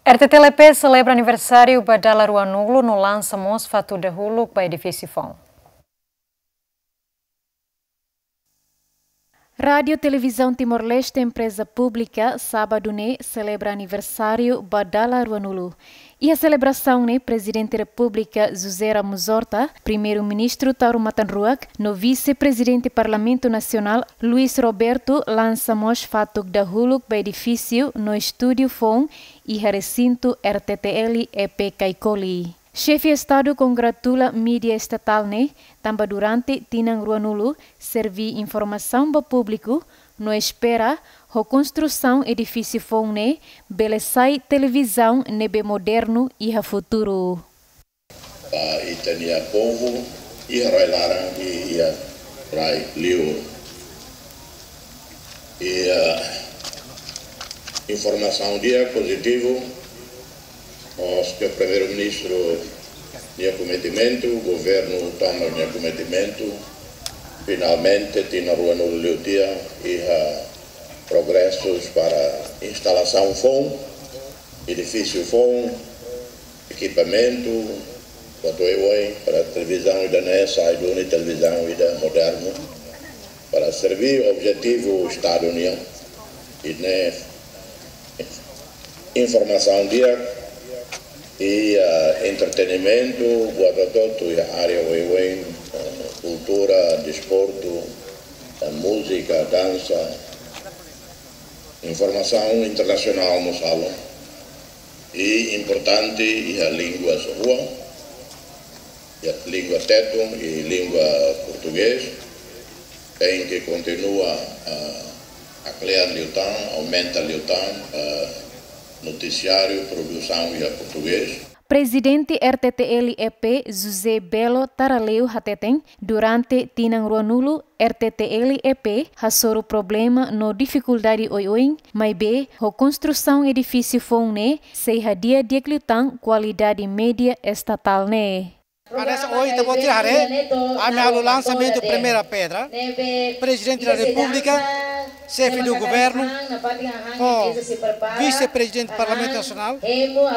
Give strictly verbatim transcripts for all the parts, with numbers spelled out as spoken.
R T T L E P selebra aniversáriu ba dala ruanulu no lansa mós fatuk dahuluk ba edifísiu foun. Rádiu Televizaun Timor-Leste, empreza públika, sábadu ne'e selebra aniversáriu ba dala ruanulu. Iha selebrasaun ne'e, Prezidente Repúblika José Ramos Horta, Primeiru-Ministru Taur Matan Ruak, no Vise-Prezidente Parlamentu Nasionál Luis Roberto lansa mós fatuk dahuluk ba edifísiu no estúdiu foun iha resintu R T T L E P Caicoli. Xefe Estadu kongratula mídia estatál ne'e, tanba durante tinan ruanulu serví informasaun ba públiku, no espera ho konstrusaun edifísiu foun ne'e bele sai televizaun ne'ebé modernu iha futuru. Ba ita-nia povu iha rai-laran i iha rai-liur. I, ah, informasaun di'ak, pozitivu, mós ke Primeiru-Ministru nia kometimentu, governu toma nia kometimentu, finalmente tinan ruanulu liu tiha iha progresus para instalasaun foun, edifísiu foun, ekipamentu, buat oioin para televizaun ida-ne'e sai duni televizaun ida modernu, para serví objetivu Estadu nian. I ne'e informasaun di'ak, i, ah, entretenimentu, buat hotu-hotu iha área oioin, ah, kultura, desportu, ah, múzika, dansa, informasaun internasionál mós halo. I importante iha língua rua, iha língua tetun i língua portugés, tenke kontinua, ah, haklean liután, aumenta liután, ah, notisiáriu, produsaun iha portugés. Prezidente R T T L E P José Belo Taraleu hateten, durante tinan ruanulu R T T L E P hasoru problema no difikuldade oioin, maibé ho konstrusaun edifísiu foun ne'e sei hadi'a di'ak liután kualidade mídia estatál ne'e. Hanesan ohin ita-boot sira haree, ami halo lansamentu primeira pedra, Prezidente da Repúblika, Xefe do Governu, ho Vise-Prezidente Parlamentu Nasionál,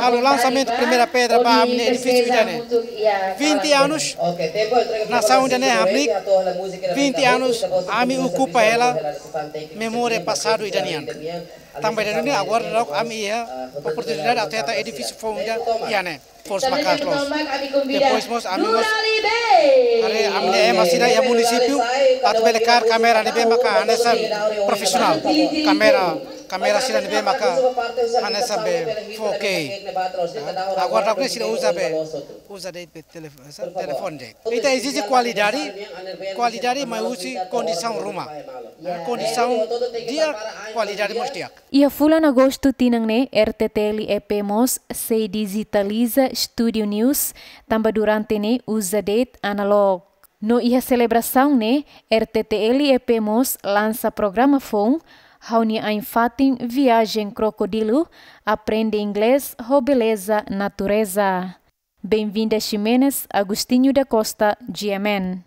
halo lansamentu primeira pedra ba ami-nia edifísiu ida-ne'e. Vinte anos, nasaun ida-ne'e hamriik, vinte anos, ami okupa hela memória pasadu ida nian. Tanba ida-ne'e agora daudaun ami iha oportunidade atu hetan edifísiu foun ida iha ne'e. Forsa maka'as loos. Depois mós ami mós haree ami-nia ema sira iha munisípiu atu bele kaer kámera ne'ebé maka hanesan profisionál. Kámera, kámera sira ne'ebé maka hanesan be four K. Agora daudaun ne'e sira uza be, uza de'it be telef-, telefone de'it. Ita ezije kualidade, kualidade mai husi kondisaun ruma. Kondisaun di'ak, kualidade mós di'ak. Iha fulan Agostu tinan ne'e, R T T L E P mós sei dijitaliza Studio News, tanba durante ne'e uza de'it analóg. No iha selebrasaun ne'e, R T T L E P mós lansa programa foun, ha'u-nia ain-fatin Viajen Krokodilu, Aprende Inglés ho Beleza Natureza. Benvinda Ximenes, Agostinho da Costa, G M N.